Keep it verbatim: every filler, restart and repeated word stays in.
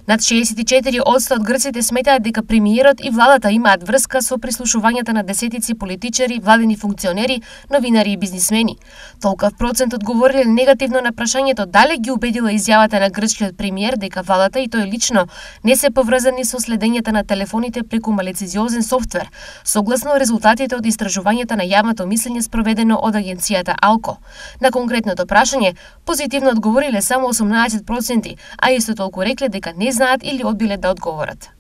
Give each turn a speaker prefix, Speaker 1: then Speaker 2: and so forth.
Speaker 1: Над шеесет и четири одсто од грците сметаат дека премиерот и владата имаат врска со прислушувањата на десетици политичари, владени функционери, новинари и бизнисмени. Толкав процент одговориле негативно на прашањето дали ги убедила изјавата на грчкиот премиер дека владата и тој лично не се поврзани со следењето на телефоните преку малецизиозен софтвер, согласно резултатите од истражувањето на јавното мислење спроведено од агенцијата Алко. На конкретното прашање позитивно одговориле само осумнаесет проценти, а исто толку рекле дека не знаат или одбиле да одговорат.